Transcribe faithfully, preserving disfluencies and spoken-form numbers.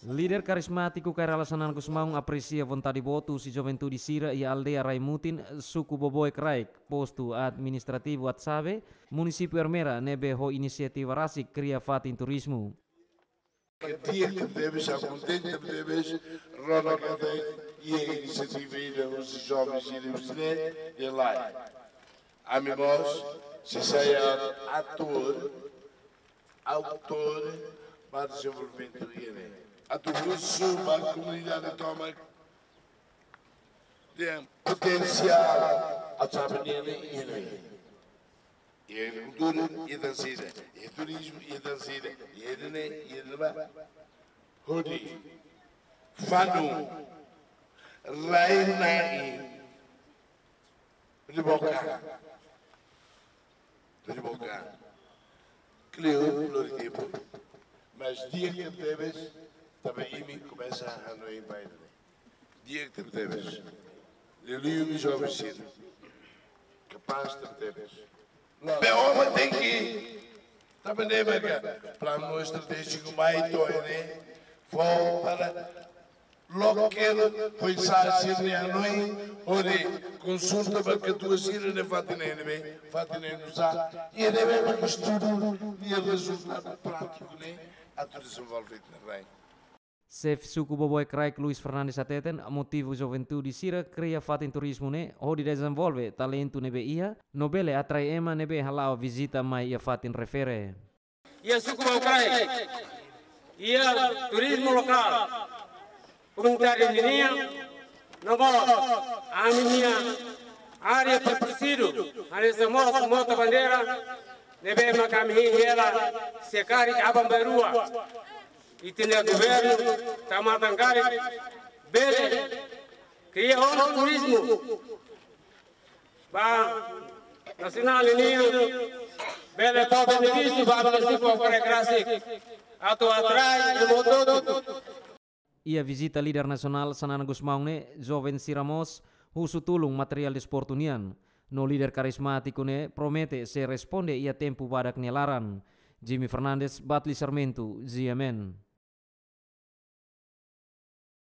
Líder karizmátiku Kay Rala Xanana Gusmão apresia vontade boot husi juventude sira iha aldeia Raimutin, suku Boboe Kraik, postu administrativu Atsabe, munisípiu Ermera, ne'ebé ho inisiativa rasik kria fatin turizmu. Di'ak tebes, kontente tebes, rona katak iha inisiativa ida husi jovens ida husi ne'e, de lai. Ami mós sei sai atór, autór ba dezenvolvimentu iha ne'e. Atu husu ba komunidade tomak, dehan potensiál Atsabe nian iha ne'e. Iha agrikultura, iha tan sira, iha turizmu, iha tan sira, iha ida-ne'e, iha ida-ne'ebá. Hodi fanu rai-na'in Riboka. Riboka. Kleur, floritempo. Mas di'ak tebes, tanba imi komesa hanoin ba ida-ne'e. Di'ak tebes. Liuliu imi joven sira. Kapás tebes. Be ema tenke, tanba ne'e maka planu estratéjiku mai to'o ne'e, fó para loke, foin-sa'e sira-nia hanoin, hodi konsulta ba katuas sira-nia fatin ne'ebé, fatin ne'e nu'usá, i ne'ebé maka estudu nia rezultadu prátiku ne'e atu dezenvolve iha rai. Xefe suku Boboe Kraik Luis Fernandes hateten, motivu juventude sira kria fatin turizmu ne'e hodi dezenvolve talentu ne'ebé iha, no bele atrai ema ne'ebé hala'o vizita mai iha fatin refere. Iha suku Boboe Kraik, iha turizmu lokál, komunitáriu ninian, no mós ami-nia área protejidu, hanesan mós Mota Bandeira, ne'ebé maka ami hein hela se karik aban-bainrua. Ita-nia governu tau matan karik bele kria ona turizmu ba nasionál ninian, bele fó benefísiu ba munisípiu Boboe Kraik rasik, atu atrai ema hotu-hotu. Iha vizita líder nasionál Xanana Gusmão ne'e, joven sira mós husu tulun materiál desportu nian. No líder karizmátiku ne'e promete sei responde iha tempu badak nia laran. Jimmy Fernandes, Batli Sarmento, G M N.